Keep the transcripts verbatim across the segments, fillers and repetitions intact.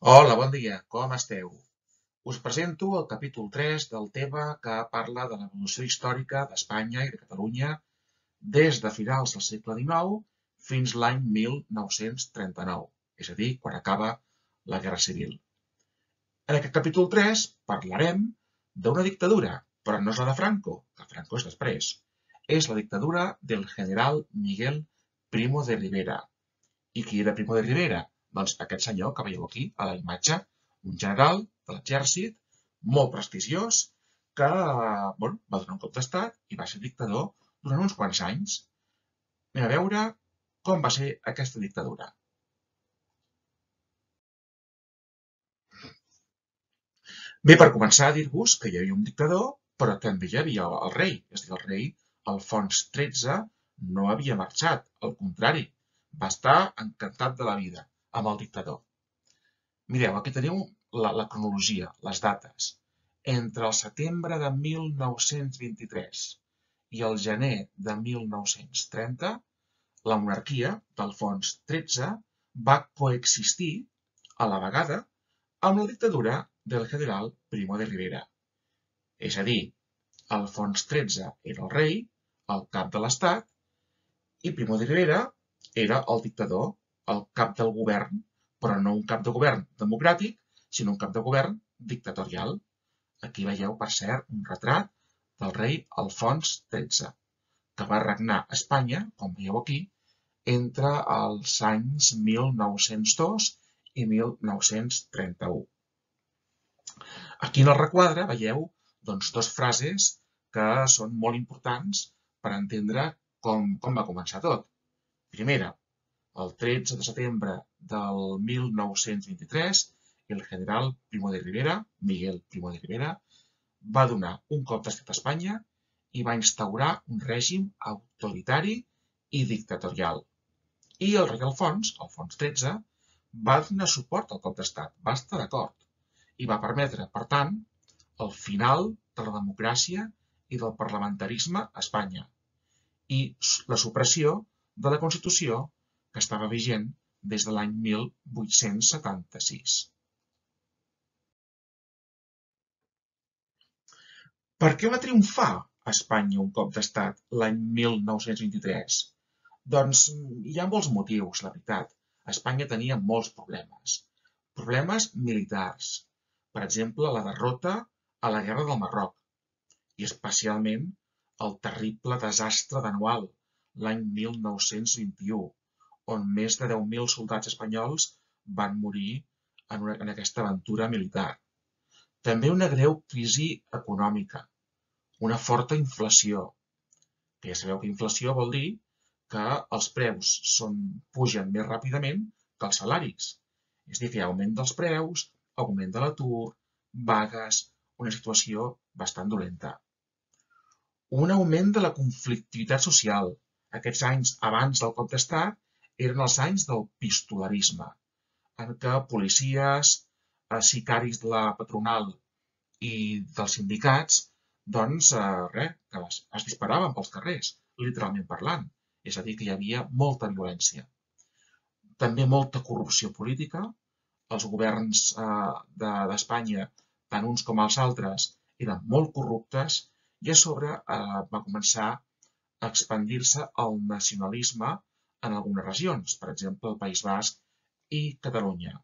Hola, bon dia, com esteu? Us presento el capítol tres del tema que parla de l'evolució històrica d'Espanya i de Catalunya des de finals del segle dinou fins l'any mil nou-cents trenta-nou, és a dir, quan acaba la Guerra Civil. En aquest capítol tres parlarem d'una dictadura, però no és la de Franco, que Franco és després. És la dictadura del general Miguel Primo de Rivera. I qui era Primo de Rivera? Doncs aquest senyor que veieu aquí, a la imatge, un general de l'exèrcit, molt prestigiós, que bueno, va donar un cop d'estat i va ser dictador durant uns quants anys. Anem a veure com va ser aquesta dictadura. Bé, per començar, dir-vos que hi havia un dictador, però també hi havia el rei. És a dir, el rei Alfons tretze no havia marxat, al contrari, va estar encantat de la vida amb el dictador. Mireu, aquí teniu la, la cronologia, les dates. Entre el setembre de mil nou-cents vint-i-tres i el gener de mil nou-cents trenta, la monarquia d'Alfons tretze va coexistir a la vegada amb la dictadura del general Primo de Rivera. És a dir, Alfons tretze era el rei, el cap de l'estat, i Primo de Rivera era el dictador, el cap del govern, però no un cap de govern democràtic, sinó un cap de govern dictatorial. Aquí veieu, per cert, un retrat del rei Alfons tretze, que va regnar a Espanya, com veieu aquí, entre els anys mil nou-cents dos i mil nou-cents trenta-u. Aquí en el requadre veieu doncs, dues frases que són molt importants per entendre com, com va començar tot. Primera, el tretze de setembre del mil nou-cents vint-i-tres, el general Primo de Rivera, Miguel Primo de Rivera, va donar un cop d'estat a Espanya i va instaurar un règim autoritari i dictatorial. I el rei Alfons, Alfons tretze, va donar suport al cop d'estat, va estar d'acord i va permetre, per tant, el final de la democràcia i del parlamentarisme a Espanya i la supressió de la Constitució que estava vigent des de l'any mil vuit-cents setanta-sis. Per què va triomfar a Espanya un cop d'estat l'any mil nou-cents vint-i-tres? Doncs hi ha molts motius, la veritat. Espanya tenia molts problemes. Problemes militars. Per exemple, la derrota a la Guerra del Marroc i especialment el terrible desastre d'Annual, l'any mil nou-cents vint-i-u, on més de deu mil soldats espanyols van morir en, una, en aquesta aventura militar. També una greu crisi econòmica, una forta inflació, que ja sabeu que inflació vol dir que els preus són, pugen més ràpidament que els salaris. És a dir, que hi ha augment dels preus, augment de l'atur, vagues, una situació bastant dolenta. Un augment de la conflictivitat social. Aquests anys abans del cop d'estat eren els anys del pistolarisme, en què policies, sicaris de la patronal i dels sindicats, doncs, res, que es, es disparaven pels carrers, literalment parlant. És a dir, que hi havia molta violència. També molta corrupció política. Els governs d'Espanya, tant uns com els altres, eren molt corruptes i a sobre va començar a expandir-se el nacionalisme en algunes regions, per exemple, el País Basc i Catalunya.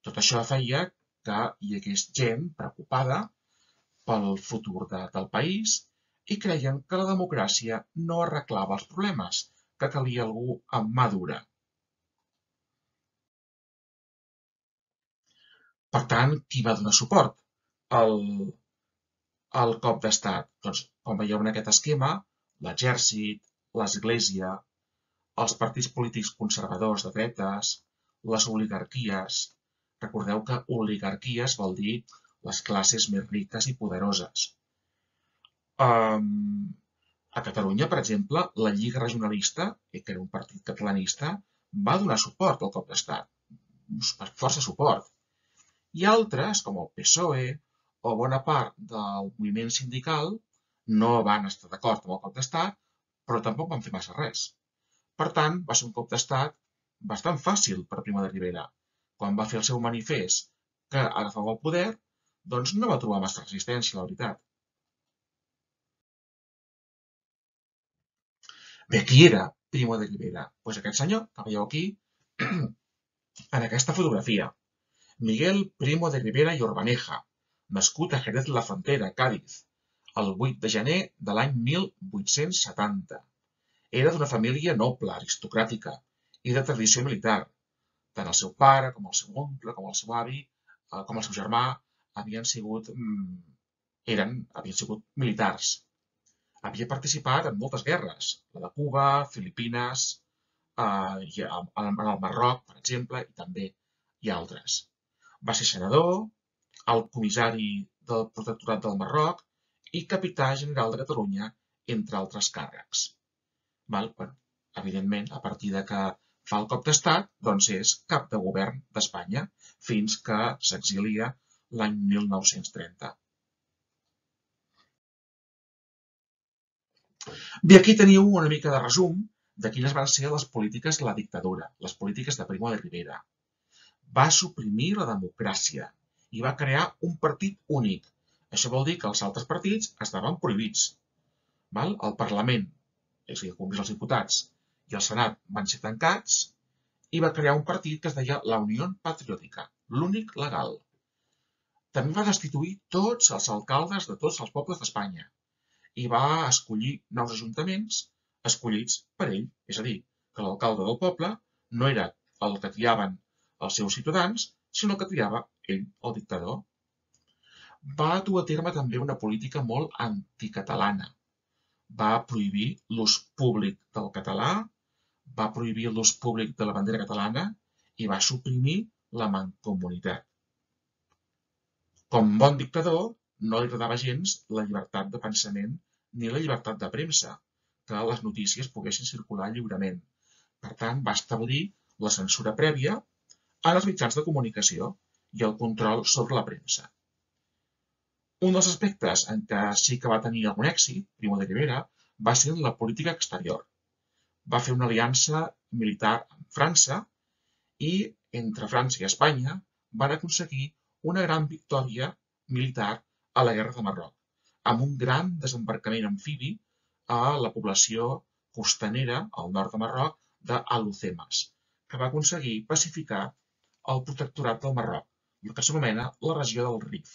Tot això feia que hi hagués gent preocupada pel futur de, del país i creien que la democràcia no arreglava els problemes, que calia algú amb mà dura. Per tant, qui va donar suport al, al cop d'estat? Doncs, com veieu en aquest esquema, l'exèrcit, l'església, els partits polítics conservadors de dretes, les oligarquies. Recordeu que oligarquies vol dir les classes més riques i poderoses. Um, a Catalunya, per exemple, la Lliga Regionalista, que era un partit catalanista, va donar suport al cop d'estat, força suport. I altres, com el P S O E o bona part del moviment sindical, no van estar d'acord amb el cop d'estat, però tampoc van fer massa res. Per tant, va ser un cop d'estat bastant fàcil per Primo de Rivera. Quan va fer el seu manifest que agafava el poder, doncs no va trobar massa resistència, la veritat. Bé, qui era Primo de Rivera? Doncs aquest senyor que veieu aquí, en aquesta fotografia. Miguel Primo de Rivera i Orbaneja, nascut a Jerez de la Frontera, Cádiz, el vuit de gener de l'any mil vuit-cents setanta. Era d'una família noble, aristocràtica i de tradició militar. Tant el seu pare, com el seu oncle, com el seu avi, com el seu germà, havien sigut, eren, havien sigut militars. Havia participat en moltes guerres, la de Cuba, Filipines, eh, en el Marroc, per exemple, i també hi ha altres. Va ser senador, el comissari del Protectorat del Marroc i capità general de Catalunya, entre altres càrrecs. Val? Bueno, evidentment, a partir de que fa el cop d'estat, doncs és cap de govern d'Espanya, fins que s'exilia l'any mil nou-cents trenta. Bé, aquí teniu una mica de resum de quines van ser les polítiques de la dictadura, les polítiques de Primo de Rivera. Va suprimir la democràcia i va crear un partit únic. Això vol dir que els altres partits estaven prohibits. Val? El Parlament, és a dir, el Congrés dels Diputats, i el Senat van ser tancats i va crear un partit que es deia la Unió Patriòtica, l'únic legal. També va destituir tots els alcaldes de tots els pobles d'Espanya i va escollir nous ajuntaments escollits per ell. És a dir, que l'alcalde del poble no era el que triaven els seus ciutadans, sinó que triava ell, el dictador. Va dur a terme també una política molt anticatalana. Va prohibir l'ús públic del català, va prohibir l'ús públic de la bandera catalana i va suprimir la mancomunitat. Com bon dictador, no li agradava gens la llibertat de pensament ni la llibertat de premsa, que les notícies poguessin circular lliurement. Per tant, va establir la censura prèvia en els mitjans de comunicació i el control sobre la premsa. Un dels aspectes en què sí que va tenir algun èxit, Primo de Rivera, va ser la política exterior. Va fer una aliança militar amb França i entre França i Espanya van aconseguir una gran victòria militar a la Guerra de Marroc, amb un gran desembarcament amfibi a la població costanera al nord de Marroc d'Alhucemas, que va aconseguir pacificar el protectorat del Marroc, el que s'anomena la regió del Rif.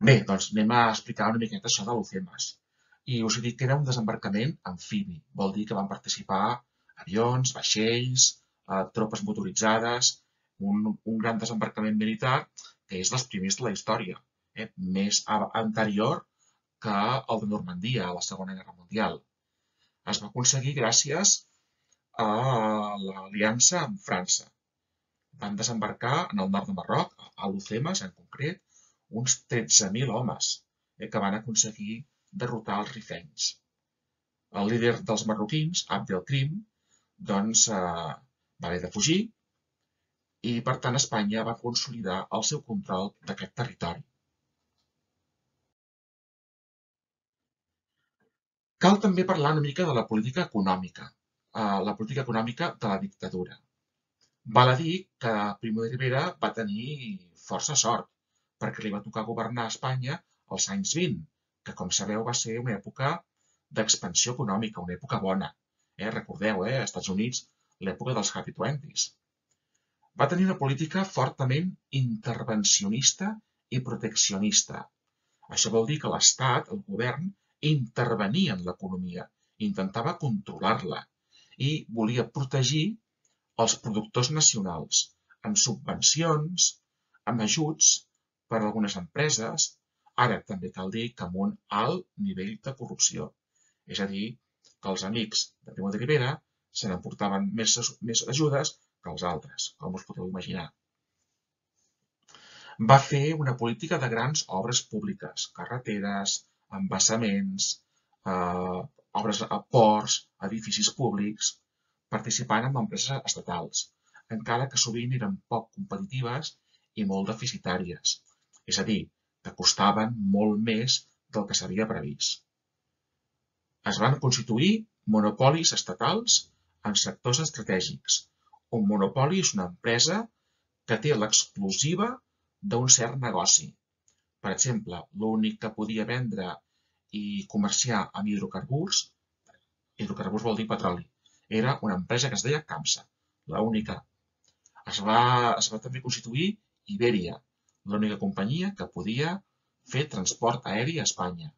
Bé, doncs anem a explicar una miqueta això d'Alhucemas. I us he dit que era un desembarcament amfibi. Vol dir que van participar avions, vaixells, eh, tropes motoritzades, un, un gran desembarcament militar que és dels primers de la història, eh, més anterior que el de Normandia, a la Segona Guerra Mundial. Es va aconseguir gràcies a l'aliança amb França. Van desembarcar en el nord de Marroc, a Alhucemas en concret, uns tretze mil homes eh, que van aconseguir derrotar els rifenys. El líder dels marroquins, Abd el-Krim, doncs eh, va haver de fugir i, per tant, Espanya va consolidar el seu control d'aquest territori. Cal també parlar una mica de la política econòmica, eh, la política econòmica de la dictadura. Val a dir que Primo de Rivera va tenir força sort, perquè li va tocar governar a Espanya als anys vint, que, com sabeu, va ser una època d'expansió econòmica, una època bona. Eh? Recordeu, eh? als Estats Units, l'època dels Happy Twenties. Va tenir una política fortament intervencionista i proteccionista. Això vol dir que l'Estat, el govern, intervenia en l'economia, intentava controlar-la i volia protegir els productors nacionals amb subvencions, amb ajuts per a algunes empreses, ara també cal dir que amb un alt nivell de corrupció. És a dir, que els amics de Primo de Rivera se n'emportaven més, més ajudes que els altres, com us podeu imaginar. Va fer una política de grans obres públiques, carreteres, embassaments, eh, obres a ports, edificis públics, participant en empreses estatals, encara que sovint eren poc competitives i molt deficitàries. És a dir, que costaven molt més del que s'havia previst. Es van constituir monopolis estatals en sectors estratègics, Un monopoli és una empresa que té l'exclusiva d'un cert negoci. Per exemple, l'únic que podia vendre i comerciar amb hidrocarburs, hidrocarburs vol dir petroli, era una empresa que es deia CAMSA, l'única. Es va, es va també constituir Iberia, l'única companyia que podia fer transport aeri a Espanya.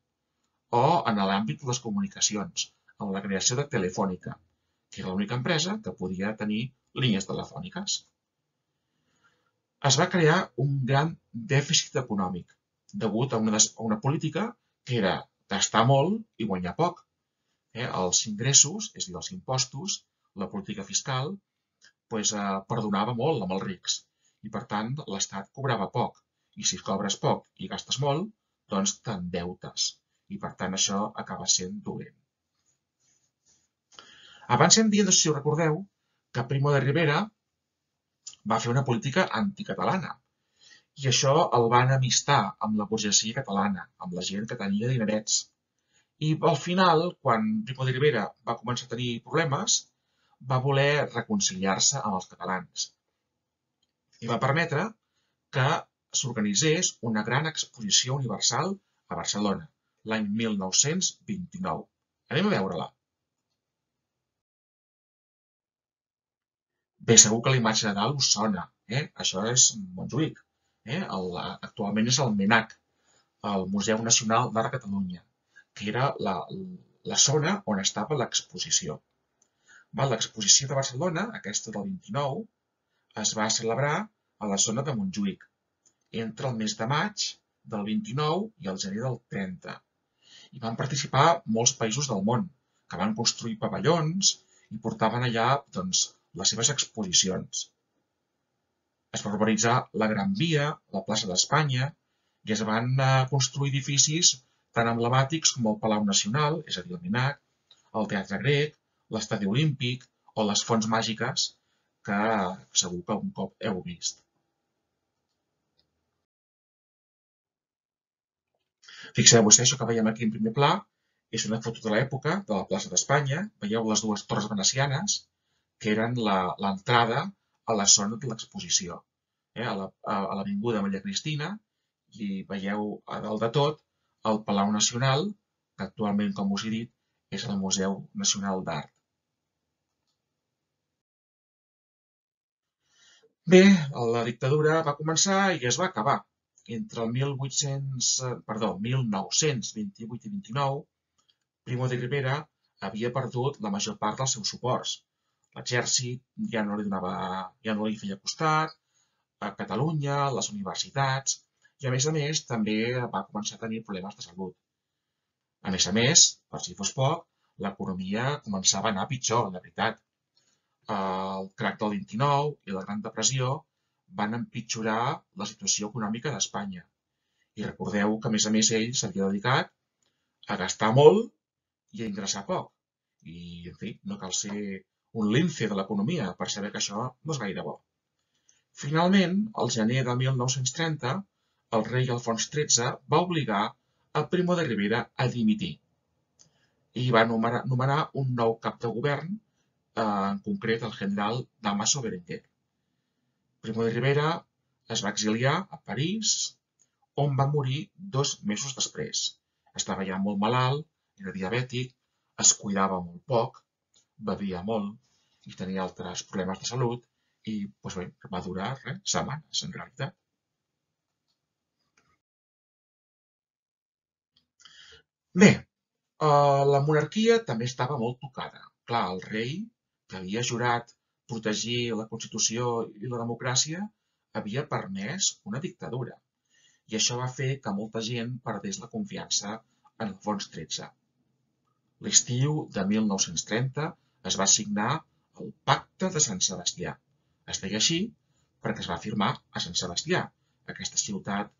O en l'àmbit de les comunicacions, amb la creació de Telefònica, que era l'única empresa que podia tenir línies telefòniques. Es va crear un gran dèficit econòmic, degut a una, a una política que era gastar molt i guanyar poc. Eh, els ingressos, és a dir, els impostos, la política fiscal, pues, eh, perdonava molt amb els rics i, per tant, l'Estat cobrava poc. I si cobres poc i gastes molt, doncs t'endeutes. I, per tant, això acaba sent dolent. Abans hem dit, no sé si ho recordeu, que Primo de Rivera va fer una política anticatalana. I això el va enemistar amb la burgesia catalana, amb la gent que tenia dinerets. I al final, quan Primo de Rivera va començar a tenir problemes, va voler reconciliar-se amb els catalans. I va permetre que s'organitzés una gran exposició universal a Barcelona, l'any mil nou-cents vint-i-nou. Anem a veure-la. Bé, segur que la imatge de dalt us sona. Eh? Això és Montjuïc. Eh? El, actualment és el MENAC, el Museu Nacional d'Art de Catalunya, que era la, la zona on estava l'exposició. L'exposició de Barcelona, aquesta del vint-i-nou, es va celebrar a la zona de Montjuïc, entre el mes de maig del vint-i-nou i el gener del trenta. Hi van participar molts països del món, que van construir pavellons i portaven allà doncs, les seves exposicions. Es va urbanitzar la Gran Via, la plaça d'Espanya, i es van construir edificis tan emblemàtics com el Palau Nacional, és a dir, el MENAC, el Teatre Grec, l'Estadi Olímpic o les Fonts Màgiques, que segur que un cop heu vist. Fixeu-vos, això que veiem aquí en primer pla és una foto de l'època de la plaça d'Espanya. Veieu les dues torres venecianes, que eren l'entrada a la zona de l'exposició, eh, a l'Avinguda Maria Cristina, i veieu a dalt de tot el Palau Nacional, que actualment, com us he dit, és el Museu Nacional d'Art. Bé, la dictadura va començar i es va acabar. Entre el mil vuit-cents, perdó, mil nou-cents vint-i-vuit i vint-i-nou, Primo de Rivera havia perdut la major part dels seus suports. L'exèrcit ja no li donava, ja no li feia costat, a Catalunya, les universitats, i a més a més també va començar a tenir problemes de salut. A més a més, per si fos poc, l'economia començava a anar pitjor, de veritat. El crac del vint-i-nou i la Gran Depressió van empitjorar la situació econòmica d'Espanya. I recordeu que, a més a més, ell s'havia dedicat a gastar molt i a ingressar poc. I, en fi, no cal ser un lince de l'economia per saber que això no és gaire bo. Finalment, al gener de mil nou-cents trenta, el rei Alfons tretze va obligar a Primo de Rivera a dimitir i va nomenar, nomenar un nou cap de govern, eh, en concret el general Dámaso Berenguer. Primo de Rivera es va exiliar a París, on va morir dos mesos després. Estava ja molt malalt, era diabètic, es cuidava molt poc, bevia molt i tenia altres problemes de salut i doncs bé, va durar res, setmanes, en realitat. Bé, la monarquia també estava molt tocada. Clar, el rei, que havia jurat protegir la Constitució i la democràcia, havia permès una dictadura. I això va fer que molta gent perdés la confiança en Alfons tretze. L'estiu de mil nou-cents trenta es va signar el Pacte de Sant Sebastià. Es deia així perquè es va firmar a Sant Sebastià, aquesta ciutat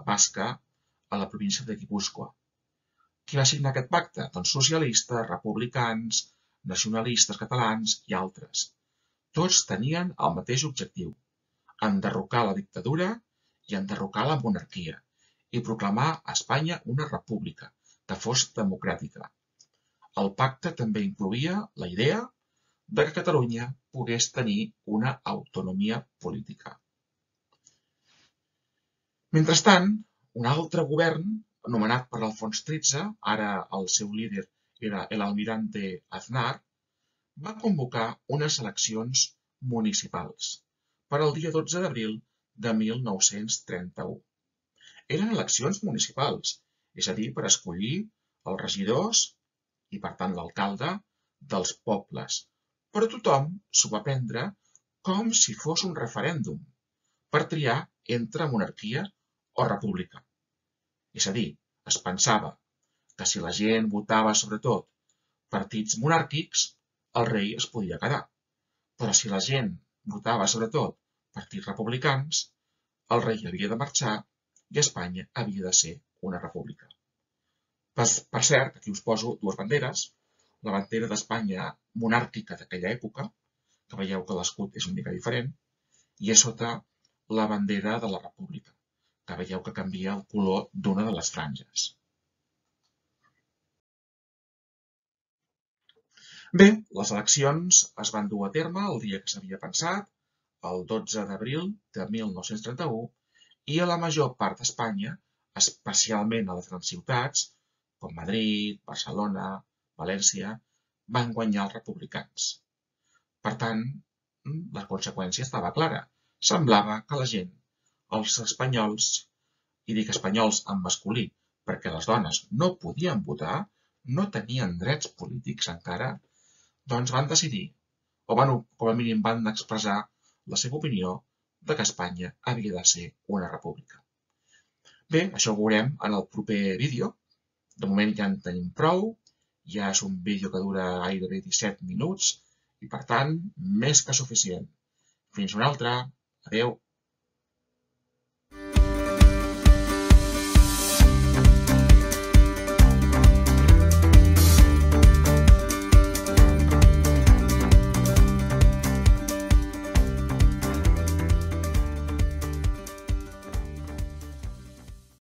basca a la província de Guipúscoa. Qui va signar aquest pacte? Doncs socialistes, republicans, nacionalistes catalans i altres. Tots tenien el mateix objectiu: enderrocar la dictadura i enderrocar la monarquia i proclamar a Espanya una república que fos democràtica. El pacte també incloïa la idea de que Catalunya pogués tenir una autonomia política. Mentrestant, un altre govern, nomenat per Alfons tretze, ara el seu líder era l'almirante Aznar, va convocar unes eleccions municipals per al dia dotze d'abril de mil nou-cents trenta-u. Eren eleccions municipals, és a dir, per escollir els regidors i, per tant, l'alcalde dels pobles, però tothom s'ho va prendre com si fos un referèndum per triar entre monarquia o república. És a dir, es pensava que si la gent votava sobretot partits monàrquics, el rei es podia quedar, però si la gent votava sobretot partits republicans, el rei havia de marxar i Espanya havia de ser una república. Per cert, aquí us poso dues banderes, la bandera d'Espanya monàrquica d'aquella època, que veieu que l'escut és una mica diferent, i a sota la bandera de la república, que veieu que canvia el color d'una de les franges. Bé, les eleccions es van dur a terme el dia que s'havia pensat, el dotze d'abril de mil nou-cents trenta-u, i a la major part d'Espanya, especialment a les grans ciutats, com Madrid, Barcelona, València, van guanyar els republicans. Per tant, la conseqüència estava clara. Semblava que la gent, els espanyols, i dic espanyols en masculí perquè les dones no podien votar, no tenien drets polítics encara, doncs van decidir, o van, com a mínim van expressar la seva opinió de que Espanya havia de ser una república. Bé, això ho veurem en el proper vídeo. De moment ja en tenim prou, ja és un vídeo que dura gairebé disset minuts i, per tant, més que suficient. Fins una altra. Adéu.